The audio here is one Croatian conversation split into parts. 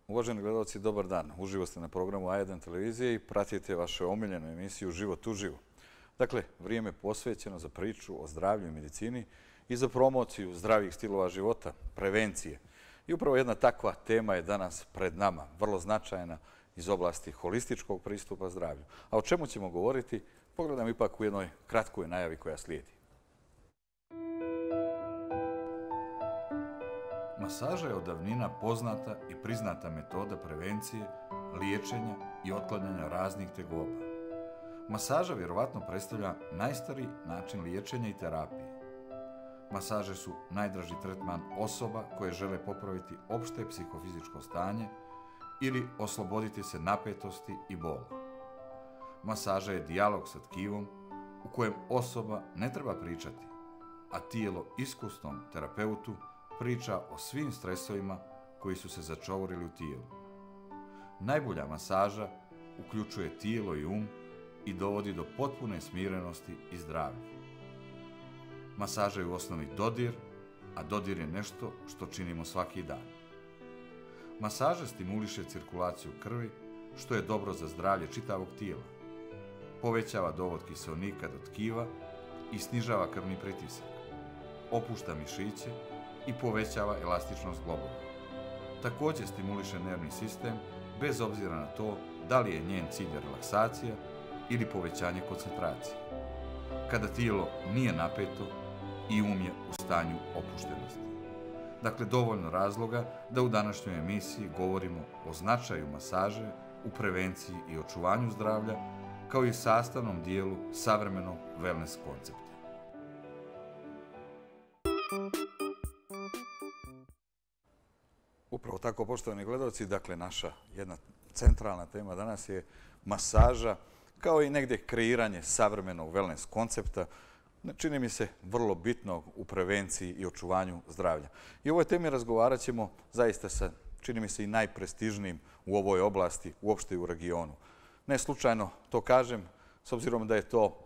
Uvaženi gledalci, dobar dan. Uživo ste na programu A1 televizije i pratite vašu omiljenu emisiju Život uživo. Dakle, vrijeme posvećeno za priču o zdravlju i medicini i za promociju zdravih stilova života, prevencije. I upravo jedna takva tema je danas pred nama, vrlo značajna iz oblasti holističkog pristupa zdravlju. A o čemu ćemo govoriti, pogledam ipak u jednoj kratkoj najavi koja slijedi. Masaža je od davnina poznata i priznata metoda prevencije, liječenja i otklanjanja raznih tegoba. Masaža vjerovatno predstavlja najstariji način liječenja i terapije. Masaže su najdraži tretman osoba koje žele popraviti opšte psihofizičko stanje ili osloboditi se napetosti i bola. Masaža je dijalog sa tkivom u kojem osoba ne treba pričati, a tijelo iskusnom terapeutu priča o svim stresovima koji su se začovorili u tijelu. Najbolja masaža uključuje tijelo i i dovodi do potpune smirenosti i zdravlja. Masaža je u osnovi dodir, a dodir je nešto što činimo svaki dan. Masaža stimuliše cirkulaciju krvi, što je dobro za zdravlje čitavog tijela. Povećava dovod kiseonika do tkiva i snižava krvni pritisak. Opušta mišiće i povećava elastičnost globova. Također stimuliše nervni sistem bez obzira na to da li je njen cilj relaksacija ili povećanje koncentracije. Kada tijelo nije napeto i je u stanju opuštenosti. Dakle, dovoljno razloga da u današnjoj emisiji govorimo o značaju masaže u prevenciji i očuvanju zdravlja, kao i sastavnom dijelu savremenog wellness koncepta. Upravo tako, poštovani gledalci, dakle, naša jedna centralna tema danas je masaža, kao i negdje kreiranje savremenog wellness koncepta, čini mi se vrlo bitno u prevenciji i očuvanju zdravlja. I o ovoj temi razgovarat ćemo zaista sa, čini mi se, i najprestižnijim u ovoj oblasti, uopšte i u regionu. Ne slučajno to kažem, s obzirom da je to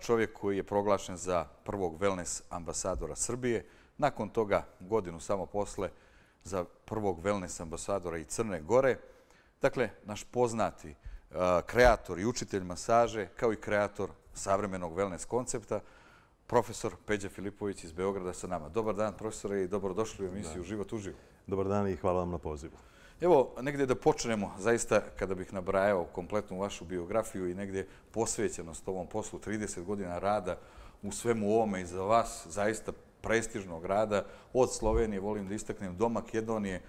čovjek koji je proglašen za prvog wellness ambasadora Srbije, nakon toga godinu samo posle za prvog wellness ambasadora i Crne Gore. Dakle, naš poznati kreator i učitelj masaže, kao i kreator savremenog wellness koncepta, profesor Peđa Filipović iz Beograda sa nama. Dobar dan, profesore, i dobrodošli u emisiju Život uživo. Dobar dan i hvala vam na pozivu. Evo, negdje da počnemo, zaista, kada bih nabrajao kompletnu vašu biografiju i negdje posvećenost ovom poslu, 30 godina rada u svemu ovome i za vas, zaista prestižnog rada, od Slovenije, volim da istaknem, do Makedonije,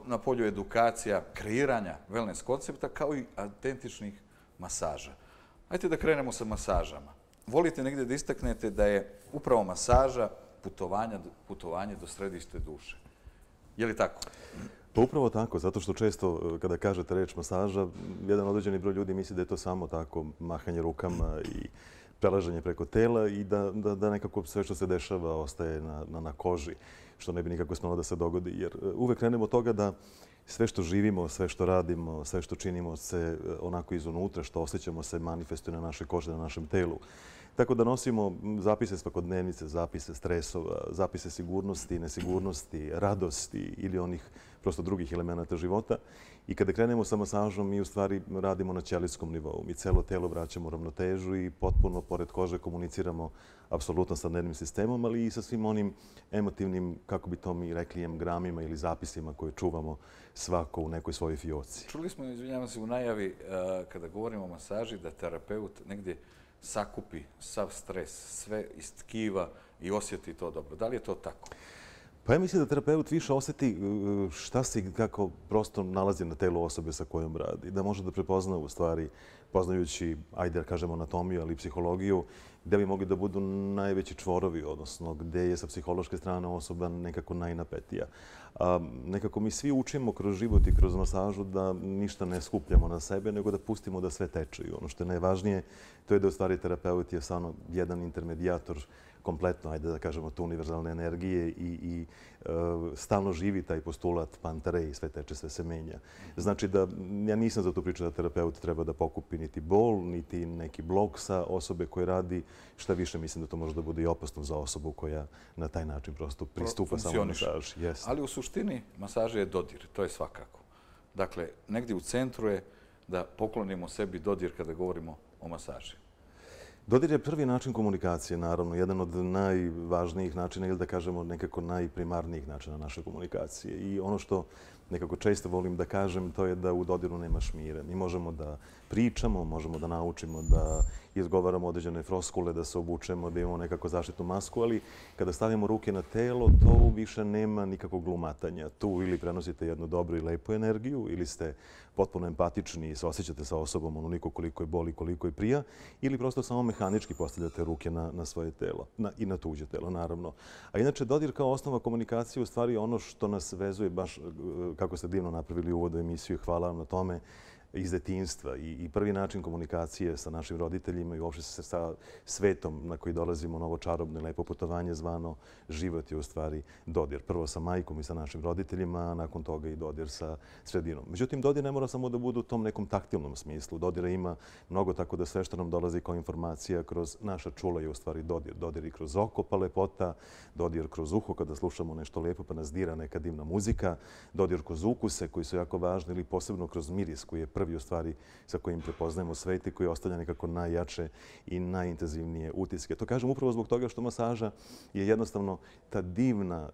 na polju edukacija, kreiranja wellness koncepta, kao i autentičnih masaža. Ajde da krenemo sa masažama. Volite negdje da istaknete da je upravo masaža putovanje do središte duše. Je li tako? Pa upravo tako, zato što često kada kažete reč masaža, jedan određeni broj ljudi misli da je to samo tako mahanje rukama i prelaženje preko tela i da nekako sve što se dešava ostaje na koži, što ne bi nikako smjelo da se dogodi. Jer uvek krenemo od toga da sve što živimo, sve što radimo, sve što činimo se onako izunutra, što osjećamo se manifestuje na našoj koži, na našem telu. Tako da nosimo zapise svakodnevnice, zapise stresova, zapise sigurnosti, nesigurnosti, radosti ili onih prosto drugih elemenata života. I kada krenemo sa masažom, mi u stvari radimo na ćelijskom nivou. Mi celo telo vraćamo u ravnotežu i potpuno pored kože komuniciramo apsolutno sa nervnim sistemom, ali i sa svim onim emotivnim, kako bi to mi rekli, gramima ili zapisima koje čuvamo svako u nekoj svojoj fioci. Čuli smo, izvinjavam se, u najavi kada govorimo o masaži da terapeut negdje sakupi sav stres, sve iz tkiva i osjeti to dobro. Da li je to tako? Pa ja mislim da terapeut više osjeti šta se i kako prosto nalazi na telu osobe sa kojom radi. Da može da prepozna u stvari, poznajući, ajde da kažemo anatomiju, ali i psihologiju, gde bi mogli da budu najveći čvorovi, odnosno gde je sa psihološke strane osoba nekako najnapetija. Nekako mi svi učimo kroz život i kroz masažu da ništa ne skupljamo na sebe, nego da pustimo da sve teče. I ono što je najvažnije, to je da u stvari terapeut je samo jedan intermedijator kompletno, ajde da kažemo, tu univerzalne energije i stalno živi taj postulat pantare, sve teče, sve se menja. Znači da ja nisam za tu priču da terapeut treba da pokupi niti bol, niti neki blok sa osobe koje radi. Šta više, mislim da to može da bude i opasno za osobu koja na taj način prosto pristupa samo masaži. Ali u suštini masaža je dodir, to je svakako. Dakle, negdje u centru je da poklonimo sebi dodir kada govorimo o masaži. Dodir je prvi način komunikacije, naravno, jedan od najvažnijih načina ili da kažemo nekako najprimarnijih načina naše komunikacije. I ono što nekako često volim da kažem, to je da u dodiru nema šmire. Mi možemo da pričamo, možemo da naučimo da izgovaramo određene floskule, da se obučemo, da imamo nekako zaštitnu masku, ali kada stavimo ruke na telo, to više nema nikakvog glumatanja. Tu ili prenosite jednu dobru i lepu energiju, ili ste potpuno empatični i se osjećate sa osobom onoliko koliko je boli, koliko je prija, ili prosto samo mehanički postavljate ruke na svoje telo i na tuđe telo, naravno. A inače, dodir kao osnova komunikacije u stvari je ono što nas vezuje, baš kako ste divno napravili uvod u emisiju, hvala vam na tome, iz detinjstva i prvi način komunikacije sa našim roditeljima i uopšte sa svetom na koji dolazimo, novo čarobno i lepo putovanje zvano život je u stvari dodir. Prvo sa majkom i sa našim roditeljima, a nakon toga i dodir sa sredinom. Međutim, dodir ne mora samo da bude u tom nekom taktilnom smislu. Dodira ima mnogo, tako da sve što nam dolazi kao informacija kroz naša čula je u stvari dodir. Dodir i kroz oko pa lepota, dodir kroz uho kada slušamo nešto lepo pa nas dira neka divna muzika, dodir kroz ukuse koji su jako važni ili posebno kroz miris koji je prvi u stvari sa kojim prepoznajemo svet i koji ostavlja nekako najjače i najintenzivnije utiske. To kažem upravo zbog toga što masaža je jednostavno ta divna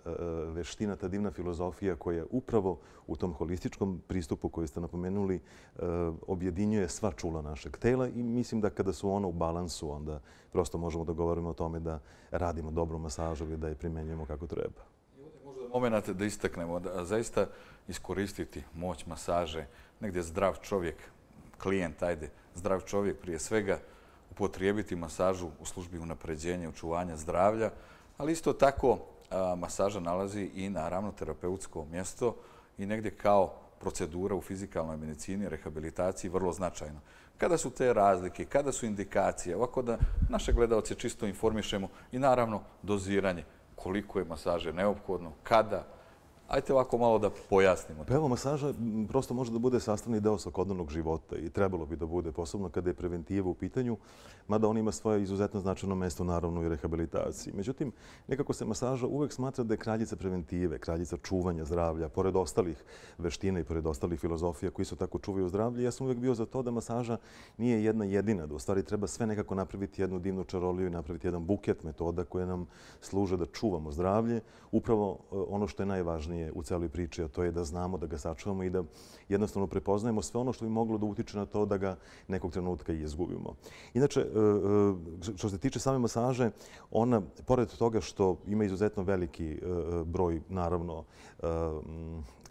veština, ta divna filozofija koja upravo u tom holističkom pristupu koji ste napomenuli objedinjuje sva čula našeg tela i mislim da kada su ono u balansu, onda prosto možemo da govorimo o tome da radimo dobru masažu i da je primenjujemo kako treba. I ovdje možda moment da istaknemo, da zaista iskoristiti moć masaže, negdje zdrav čovjek, klijent, zdrav čovjek prije svega, upotrijebiti masažu u službi unapređenja i očuvanja zdravlja, ali isto tako masaža nalazi i naravno terapeutsko mjesto i negdje kao procedura u fizikalnoj medicini, rehabilitaciji vrlo značajno. Kada su te razlike, kada su indikacije, ovako da naše gledalce čisto informišemo i naravno doziranje, koliko je masaže neophodno, kada. Ajte ovako malo da pojasnimo. Pa evo, masaža prosto može da bude sastavni deo svakodnevnog života i trebalo bi da bude, posebno kada je preventiva u pitanju, mada on ima svoje izuzetno značajno mesto naravno i rehabilitaciji. Međutim, nekako se masaža uvek smatra da je kraljica preventive, kraljica čuvanja zdravlja, pored ostalih veština i pored ostalih filozofija koji su tako čuvaju zdravlje. Ja sam uvek bio za to da masaža nije jedna jedina, da u stvari treba sve nekako napraviti jednu divnu čaroliju i napraviti jedan buket metoda koje nam služe da čuvamo zdravlje. Upravo ono što je najvažnije u celoj priči, a to je da znamo, da ga sačuvamo i da jednostavno prepoznajemo sve ono što bi moglo da utiče na to da ga nekog trenutka i izgubimo. Inače, što se tiče same masaže, ona, pored toga što ima izuzetno veliki broj, naravno,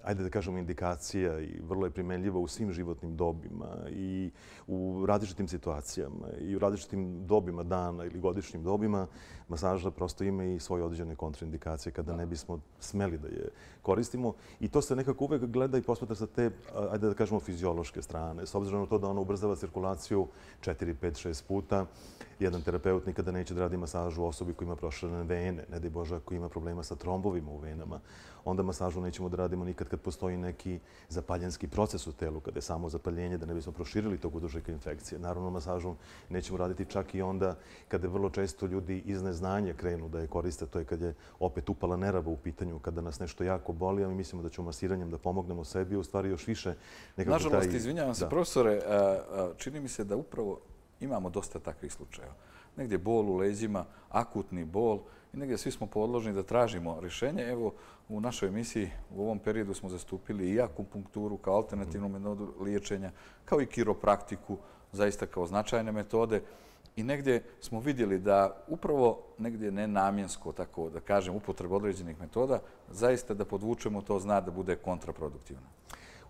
ajde da kažemo, indikacija i vrlo je primenljiva u svim životnim dobima i u različitim situacijama i u različitim dobima dana ili godišnjim dobima, masaža prosto ima i svoje određene kontraindikacije kada ne bismo smeli da je koristimo. I to se nekako uvek gleda i posmatra sa te, ajde da kažemo, fiziološke strane. S obzirom na to da ona ubrzava cirkulaciju 4, 5, 6 puta, jedan terapeut nikada neće da radi masažu osobi koja ima proširene vene, ne daj Bože ako ima problema sa trombovima u venama. Onda masažu nećemo da radimo nikad kad postoji neki zapaljenski proces u telu, kada je samo zapaljenje, da ne bismo proširili tog uzročnika infekcije. Naravno, masažu nećemo raditi čak i onda kada vrlo često ljudi iz neznanja krenu da je koriste. To je kad je opet upala nerava u pitanju, kada nas nešto jako boli, a mi mislimo da ćemo masiranjem da pomognemo sebi, u stvari još više nekako taj... Nažalost, izvinjavam se, profesore, čini mi se da upravo imamo dosta takvih slučajeva. Negdje bol u leđima, akutni bol i negdje svi smo podložni da tražimo rješenje. Evo, u našoj emisiji u ovom periodu smo zastupili i akupunkturu kao alternativnu metodu liječenja, kao i kiropraktiku, zaista kao značajne metode. I negdje smo vidjeli da upravo negdje nenamjensko, tako da kažem, upotreba određenih metoda, zaista da podvučemo to zna da bude kontraproduktivno.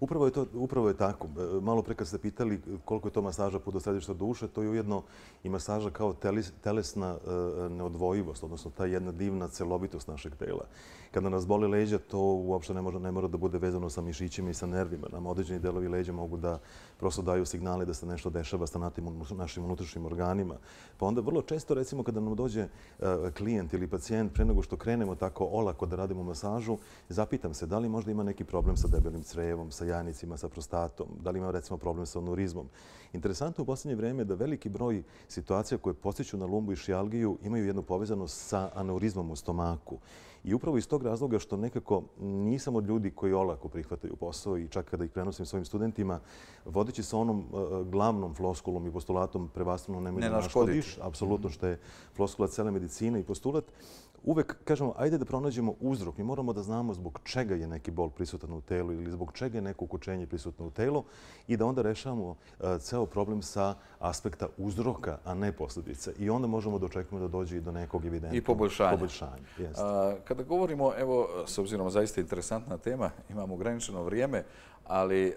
Upravo je tako. Malo pre kad ste pitali koliko je to masaža put do središta duše, to je ujedno i masaža kao telesna neodvojivost, odnosno ta jedna divna celovitost našeg tela. Kada nas boli leđa, to uopšte ne mora da bude vezano sa mišićima i sa nervima. Nam određeni delovi leđa mogu da prosto daju signale da se nešto dešava sa našim unutrašnjim organima. Pa onda vrlo često, recimo, kada nam dođe klijent ili pacijent, pre nego što krenemo tako olako da radimo masažu, zapitam se da li možda ima neki problem sa debelim crevom, sa jajnicima, sa prostatom, da li ima recimo problem sa anurizmom. Interesantno u posljednje vreme je da veliki broj situacija koje podsjeću na lumbu i šijalgiju imaju jednu povezanost sa aneurizmom u stomaku. I upravo iz tog razloga što nekako nisam od ljudi koji olako prihvataju posao i čak kada ih prenosim svojim studentima, vodeći se onom glavnom floskulom i postulatom prevashodno nemoj da naškodiš, apsolutno što je floskula cele medicine i postulat, uvek kažemo, ajde da pronađemo uzrok. Mi moramo da znamo zbog čega je neki bol prisutan u telu ili zbog čega je neko ukućenje prisutno u telu i da onda rešavamo ceo problem sa aspekta uzroka, a ne posljedice. I onda možemo da očekujemo da dođe i do nekog evidentnog poboljšanja. Kada govorimo, evo, s obzirom zaista interesantna tema, imamo ograničeno vrijeme, ali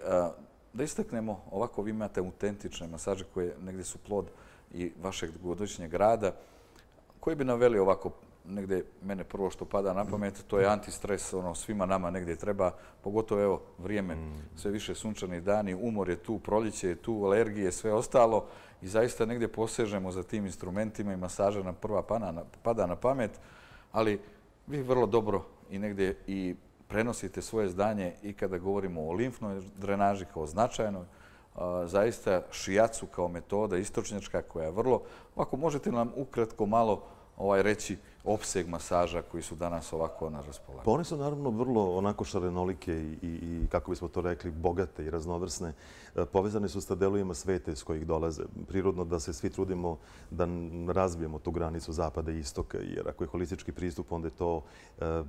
da istaknemo, ovako vi imate autentične masaže koje negdje su plod i vašeg dugogodišnjeg rada. Koji bi naveli ovako, negdje mene prvo što pada na pamet, to je antistres, svima nama negdje treba, pogotovo evo vrijeme, sve više sunčani dani, umor je tu, proljeće je tu, alergije, sve ostalo i zaista negdje posežemo za tim instrumentima i masaža nam prva pada na pamet, ali vi vrlo dobro i negdje i prenosite svoje zdanje i kada govorimo o limfnoj drenaži kao značajnoj, zaista šijacu kao metoda istočnjačka koja je vrlo, ako možete nam ukratko malo reći opseg masaža koji su danas ovako na raspolaganju? Pa one su naravno vrlo onako šarenolike i kako bismo to rekli, bogate i raznovrsne. Povezane su sa delovima sveta iz kojih dolaze. Prirodno da se svi trudimo da razbijemo tu granicu zapada i istoka, jer ako je holistički pristup, onda je to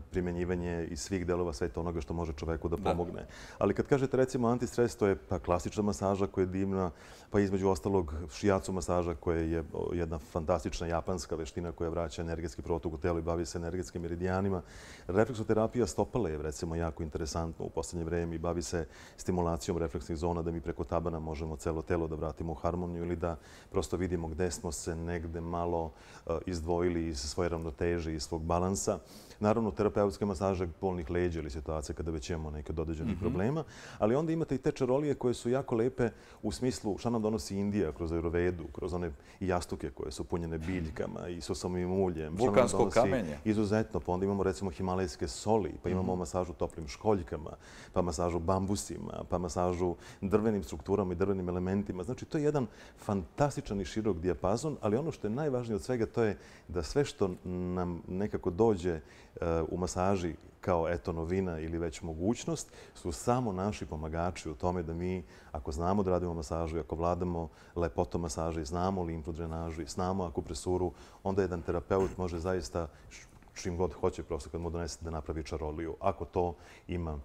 primjenjivanje iz svih delova sveta onoga što može čoveku da pomogne. Ali kad kažete recimo antistres, to je ta klasična masaža koja je divna, pa između ostalog šijacu masaža koja je jedna fantastična japanska veština koja vraća energetski protok u telo i bavi se energetskim meridijanima. Refleksoterapija stopala je recimo jako interesantno u posljednje vreme i bavi se stimulacijom refleksnih zona da mi preko tabana možemo celo telo da vratimo u harmoniju ili da prosto vidimo gde smo se negde malo izdvojili iz svoje ravnoteže i svog balansa. Naravno, terapeutske masaže bolnih leđa ili situacije kada već imamo neke dodađenih problema, ali onda imate i te čarolije koje su jako lepe u smislu šta nam donosi Indija kroz Ayurvedu, kroz one jastuke koje su punjene biljkama i susomim uljem. Vulkansko kamenje. Izuzetno, pa onda imamo recimo himalajske soli, pa imamo masažu toplim školjkama, pa masažu bambusima, pa masažu drvenim strukturama i drvenim elementima. Znači, to je jedan fantastičan i širok dijapazon, ali ono što je najvažnije od svega to je da sve što nam nekako dođe u masaži kao eto novina ili već mogućnost su samo naši pomagači u tome da mi, ako znamo da radimo masažu i ako vladamo lepotom masaže i znamo limfnu drenažu i znamo akupresuru, onda jedan terapeut može zaista čim god hoće, prosto kad mu donese da napravi čaroliju. Ako to ima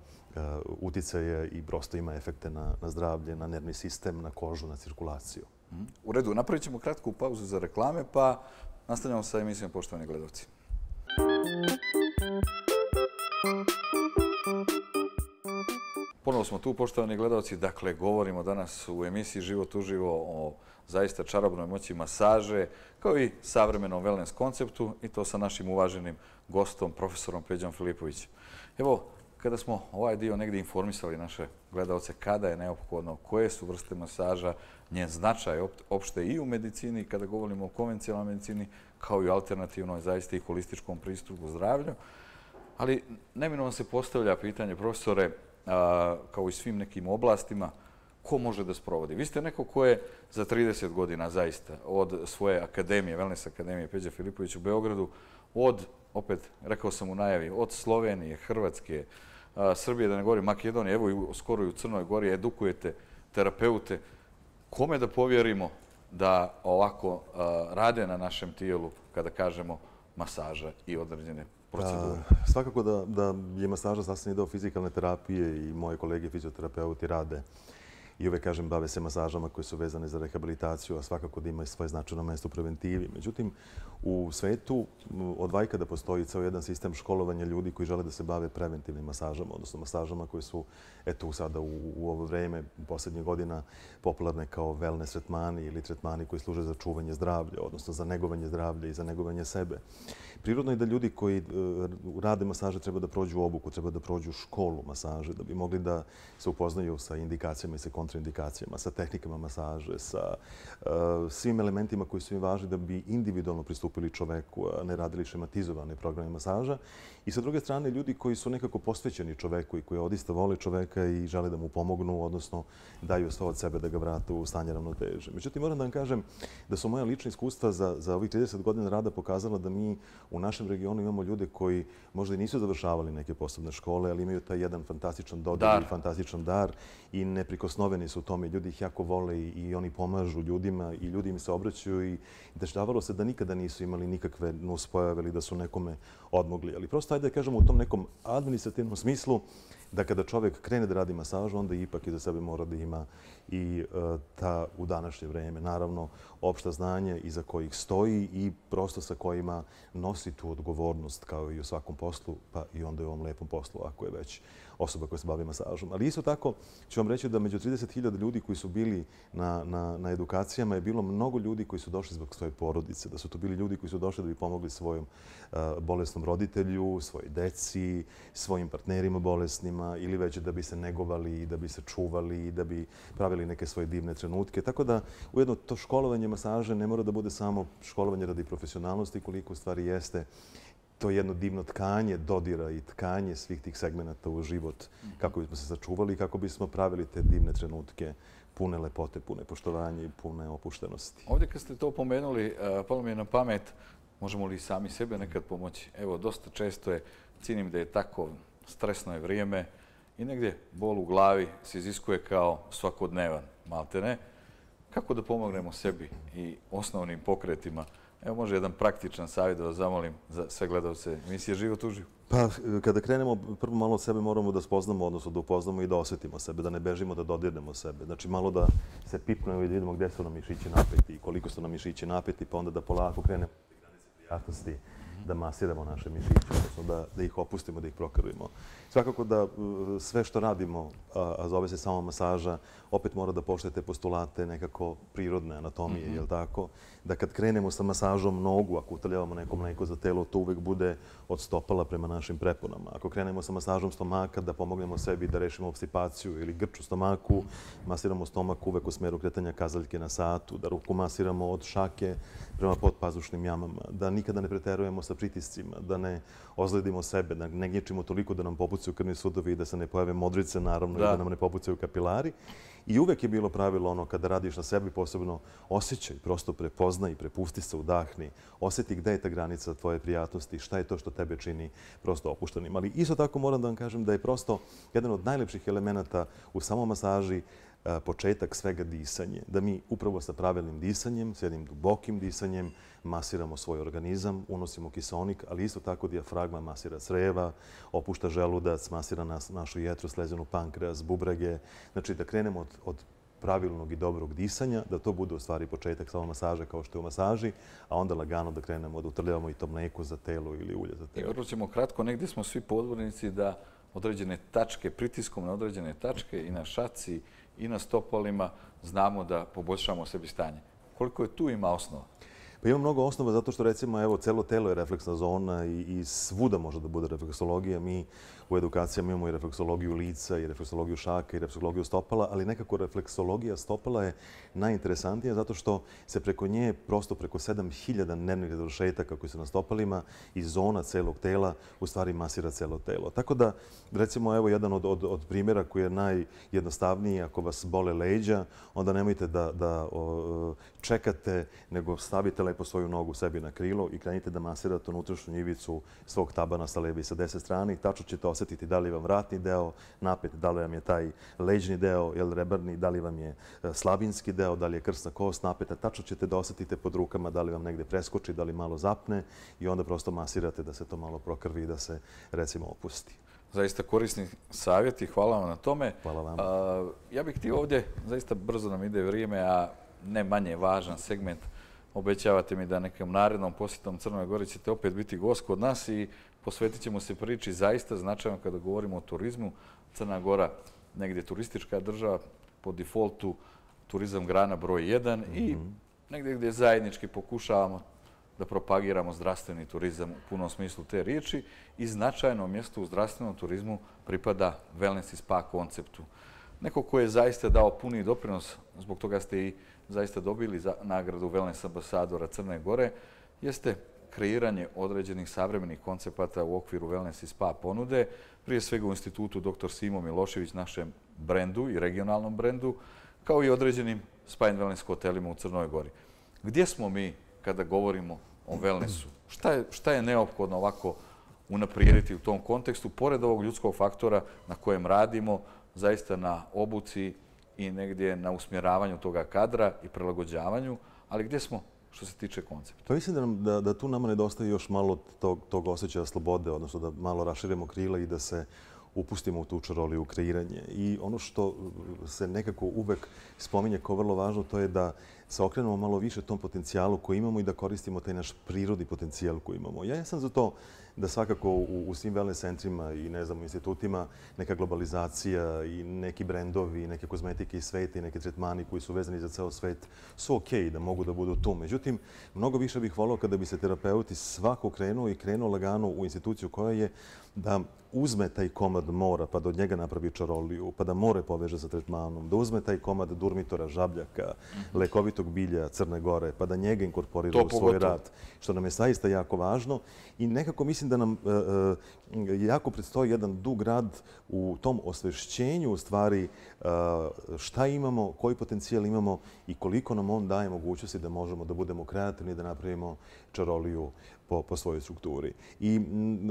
uticaje i prosto ima efekte na zdravlje, na nervni sistem, na kožu, na cirkulaciju. U redu, napravit ćemo kratku pauzu za reklame, pa nastavljamo sa emisijom, poštovani gledalci. Ponovo smo tu, poštovani gledalci. Dakle, govorimo danas u emisiji Život uživo o zaista čarobnoj moći masaže, kao i savremenom wellness konceptu, i to sa našim uvaženim gostom, profesorom Peđom Filipovićem. Evo, kada smo ovaj dio negdje informisali naše gledalce kada je neophodno, koje su vrste masaža, njen značaj opšte i u medicini, kada govorimo o konvencionalnoj medicini, kao i alternativnoj, zaista i holističkom pristupu zdravlju. Ali neminovno se postavlja pitanje, profesore, kao i svim nekim oblastima, ko može da sprovodi? Vi ste neko ko je za 30 godina zaista od svoje akademije, Wellness akademije Peđa Filipović u Beogradu, opet rekao sam u najavi, od Slovenije, Hrvatske, Srbije, da ne govorim, Makedonije, evo skoro i u Crnoj Gori edukujete terapeute. Kome da povjerimo da ovako rade na našem tijelu kada kažemo masaža i određene procedure? Svakako da je masaža sastavni deo fizikalne terapije i moje kolege fizioterapeuti rade i uvek kažem bave se masažama koje su vezane za rehabilitaciju, a svakako da imaju svoje značajno mesto u preventivi. Međutim, u svetu od vajka da postoji ceo jedan sistem školovanja ljudi koji žele da se bave preventivnim masažama, odnosno masažama koje su, eto sada u ovo vreme, u posljednjih godina, popularne kao wellness tretmani ili tretmani koji služe za čuvanje zdravlja, odnosno za negovanje zdravlja i za negovanje sebe. Prirodno je da ljudi koji rade masaže treba da prođu obuku, treba da prođu školu masaže, da bi mogli da se upoznaju sa indikacijama i sa kontraindikacijama, sa tehnikama masaže, sa svim elementima koji su im važni da bi individualno pristupili čoveku, a ne radili šematizovane programe masaža. I sa druge strane, ljudi koji su nekako posvećeni čoveku i koji odista vole čoveka i žele da mu pomognu, odnosno daju sve od sebe da ga vrate u stanje ravnoteže. Međutim, moram da vam kažem da su moja lična iskustva za ovih 30 godina rada pokazala da mi u našem regionu imamo ljude koji možda i nisu završavali neke posebne škole, ali imaju taj jedan fantastičan dodir i fantastičan dar i neprikosnoveni su u tome. Ljudi ih jako vole i oni pomažu ljudima i ljudi im se obraćaju i dešavalo se da nikada nisu imali nikakve nuspojave ili da su nekome odmogli. Ali prosto, ajde da kažemo u tom nekom administrativnom smislu da kada čovjek krene da radi masažu, onda ipak iza sebe mora da ima i ta u današnje vreme, naravno, opšta znanja iza kojih stoji i prosto sa kojima nosi tu odgovornost kao i u svakom poslu, pa i onda i u ovom lepom poslu, ako je već osoba koja se bavi masažom. Ali isto tako ću vam reći da među 30.000 ljudi koji su bili na edukacijama je bilo mnogo ljudi koji su došli zbog svoje porodice, da su to bili ljudi koji su došli da bi pomogli svojom bolesnom roditelju, svojoj deci, svojim partnerima bolesnima ili već da bi se negovali i da bi se čuvali i da bi pravili neke svoje divne trenutke. Tako da ujedno to školovanje masaže ne mora da bude samo školovanje radi profesionalnosti koliko u stvari jeste to jedno divno tkanje dodira i tkanje svih tih segmenata u život kako bismo se sačuvali i kako bismo pravili te divne trenutke pune lepote, pune poštovanja i pune opuštenosti. Ovdje kad ste to pomenuli, palo mi je na pamet, možemo li sami sebe nekad pomoći? Evo, dosta često je, cijenim da je tako stresno je vrijeme i negdje bol u glavi se iziskuje kao svakodnevan, malte ne. Kako da pomognemo sebi i osnovnim pokretima? Evo može jedan praktičan savjet da vas zamolim za sve gledalce emisije Život uživo. Pa kada krenemo, prvo malo od sebe moramo da spoznamo, odnosno da upoznamo i da osjetimo sebe, da ne bežimo, da dodirnemo sebe. Znači malo da se pipnemo i da vidimo gdje su nam mišići napeti i koliko su nam mišići napeti, pa onda da polako krenemo od granice prijatnosti, da masiramo naše mišiće, odnosno da ih opustimo, da ih prokrvimo. Svakako da sve što radimo, a zove se samo masaža, opet mora da poštuje te postulate nekako prirodne anatomije, jel tako? Da kad krenemo sa masažom nogu, ako utrljavamo nekom mleko za telo, to uvek bude od stopala prema našim preponama. Ako krenemo sa masažom stomaka, da pomognemo sebi da rešimo obstipaciju ili grč u stomaku, masiramo stomak uvek u smeru kretanja kazaljke na satu, da ruku masiramo od šake prema podpazušnim jamama, da nikada ne preterujemo sa pritiscima, da ne ozledimo sebe, da ne gnječimo toliko da nam popucaju krvni sudovi i da se ne pojave modrice, naravno, i da nam ne popucaju kapilari. I uvek je bilo pravilo ono kada radiš na sebi, posebno osjećaj, prosto prepoznaj i prepusti se, udahni, osjeti gde je ta granica tvoje prijatnosti, šta je to što tebe čini prosto opuštenim. Ali isto tako moram da vam kažem da je prosto jedan od najlepših elemenata u samom masaži početak svega disanje. Da mi upravo sa pravilnim disanjem, s jednim dubokim disanjem, masiramo svoj organizam, unosimo kiseonik, ali isto tako dijafragma masira creva, opušta želudac, masira našu jetru, slezenu pankreas, bubrege. Znači da krenemo od pravilnog i dobrog disanja, da to bude u stvari početak samo masaže kao što je u masaži, a onda lagano da krenemo da utrljavamo i to mleko za telo ili ulje za telo. I vrlo ćemo kratko, negdje smo svi podvornici da određene tačke, pritiskom na određene tačke i na šaci i na stopalima znamo da poboljšamo sebi stanje. Koliko je tu ima osnova? Pa ima mnogo osnova zato što recimo evo celo telo je refleksna zona i svuda može da bude refleksologija. Mi u edukacijama imamo i refleksologiju lica i refleksologiju šaka i refleksologiju stopala, ali nekako refleksologija stopala je najinteresantnija zato što se preko nje, prosto preko 7000 nervnih završetaka koji su na stopalima i zona celog tela u stvari masira celo telo. Tako da, recimo, evo jedan od primjera koji je najjednostavniji, ako vas bole leđa, onda nemojte da čekate, nego stavite lepo svoju nogu sebi na krilo i krenite da masirate unutrašnju ivicu svog tabana sa leve i sa desne strane i tačno ćete osjetiti da li vam vratni deo napet, da li vam je taj leđni deo, rebarni, da li vam je slavinski deo, da li je krsna kost napeta. Tačno ćete da osjetite pod rukama da li vam negde preskoči, da li malo zapne i onda prosto masirate da se to malo prokrvi i da se, recimo, opusti. Zaista korisni savjeti, hvala vam na tome. Hvala vam. Ja bih htio ovdje, zaista brzo nam ide vrijeme, a ne manje važan segment. Obećavate mi da nekom narednom posjetom Crnoj Gori ćete opet biti gost kod nas i posvetit ćemo se priči zaista značajno kada govorimo o turizmu. Crna Gora negdje turistička država, po defaultu turizam grana broj 1 i negdje gdje zajednički pokušavamo da propagiramo zdravstveni turizam u punom smislu te riječi i značajno mjesto u zdravstvenom turizmu pripada wellness i spa konceptu. Neko ko je zaista dao puni doprinos, zbog toga ste i zaista dobili nagradu wellness ambasadora Crne Gore, jeste kreiranje određenih savremenih koncepata u okviru wellness i spa ponude, prije svega u institutu dr. Simo Milošević, našem brendu i regionalnom brendu, kao i određenim spa and wellness hotelima u Crnoj Gori. Gdje smo mi kada govorimo o wellnessu? Šta je neophodno ovako unaprijediti u tom kontekstu, pored ovog ljudskog faktora na kojem radimo, zaista na obuci i negdje na usmjeravanju toga kadra i prilagođavanju, ali gdje smo što se tiče koncepta? Pa mislim da tu nama nedostaje još malo tog osjećaja slobode, odnosno da malo raširimo krila i da se upustimo u tu čaroliju, u kreiranje. I ono što se nekako uvek spominje kao vrlo važno, to je da se okrenemo malo više tom potencijalu koji imamo i da koristimo taj naš prirodni potencijal koji imamo. Ja sam za to da svakako u svim wellness centrima i u institutima neka globalizacija i neki brendovi, neke kozmetike iz sveta i neke tretmani koji su vezani za ceo svet su okej da mogu da budu tu. Međutim, mnogo više bih volio kada bi se terapeuti svako krenuo lagano u instituciju koja je da uzme taj komad mora pa da od njega napravi čaroliju, pa da more poveže sa tretmanom, da uzme taj komad durmitora, žabljaka, lekovitog bilja Crne Gore, pa da njega inkorporira u svoj rad, što nam je zaista jako važno. I nekako mislim da nam jako predstoji jedan dug rad u tom osvešćenju u stvari šta imamo, koji potencijal imamo i koliko nam on daje mogućnosti da možemo da budemo kreativni, da napravimo čaroliju po svojoj strukturi. I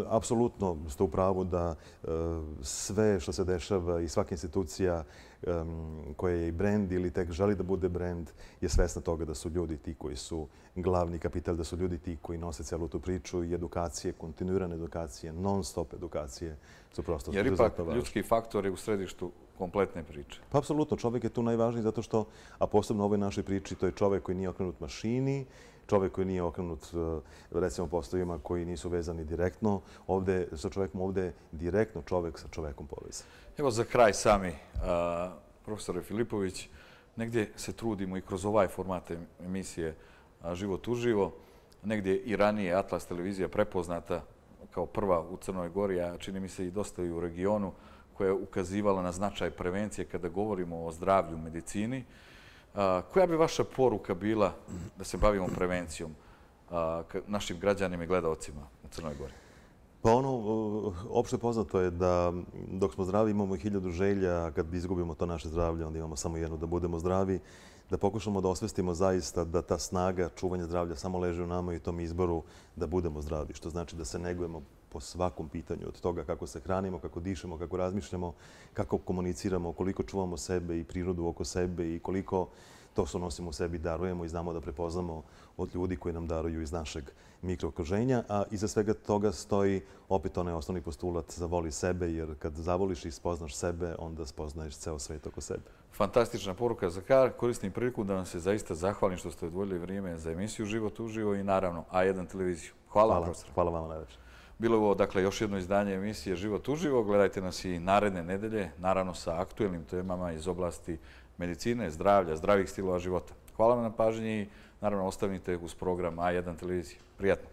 apsolutno ste u pravu da sve što se dešava i svaka institucija koja je i brend ili tek želi da bude brend je svesna toga da su ljudi ti koji su glavni kapital, da su ljudi ti koji nose celu tu priču i edukacije, kontinuirane edukacije, non-stop edukacije su prosto jer ipak ljudski faktor je u središtu kompletne priče. Pa apsolutno, čovjek je tu najvažniji zato što, a posebno u ovoj našoj priči, to je čovjek koji nije okrenut mašini, čovjek koji nije okrenut, recimo, poslovima koji nisu vezani direktno sa čovjekom, ovdje direktno čovjek sa čovjekom povezan. Evo za kraj sami, profesore Filipović, negdje se trudimo i kroz ovaj format emisije Život uživo, negdje i ranije Atlas televizija prepoznata kao prva u Crnoj Gori, a čini mi se i dosta i u regionu, koja je ukazivala na značaj prevencije kada govorimo o zdravlju u medicini. Koja bi vaša poruka bila da se bavimo prevencijom našim građanima i gledalcima u Crnoj Gori? Pa opšte poznato je da dok smo zdravi imamo 1000 želja, a kad izgubimo to naše zdravlje, onda imamo samo jedno, da budemo zdravi, da pokušamo da osvestimo zaista da ta snaga čuvanja zdravlja samo leži u nama i tom izboru da budemo zdravi, što znači da se negujemo po svakom pitanju, od toga kako se hranimo, kako dišemo, kako razmišljamo, kako komuniciramo, koliko čuvamo sebe i prirodu oko sebe i koliko to što nosimo u sebi darujemo i znamo da prepoznamo od ljudi koji nam daruju iz našeg mikrookruženja, a iza svega toga stoji opet onaj osnovni postulat zavoli sebe, jer kad zavoliš i spoznaš sebe, onda spoznaješ ceo svet oko sebe. Fantastična poruka za kraj. Koristim priliku da vam se zaista zahvalim što ste odvojili vrijeme za emisiju Život uživo i naravno A1 televiziju. Hvala vam, profesor. Hvala vam najveće. Bilo je ovo, dakle, još jedno izdanje emisije Život uživo. Gledajte nas i naredne nedelje, naravno sa aktuelnim temama iz oblasti medicine, zdravlja, zdravih stilova života. Hvala vam na pažnji i naravno ostavite uz program A1 televizije. Prijatno.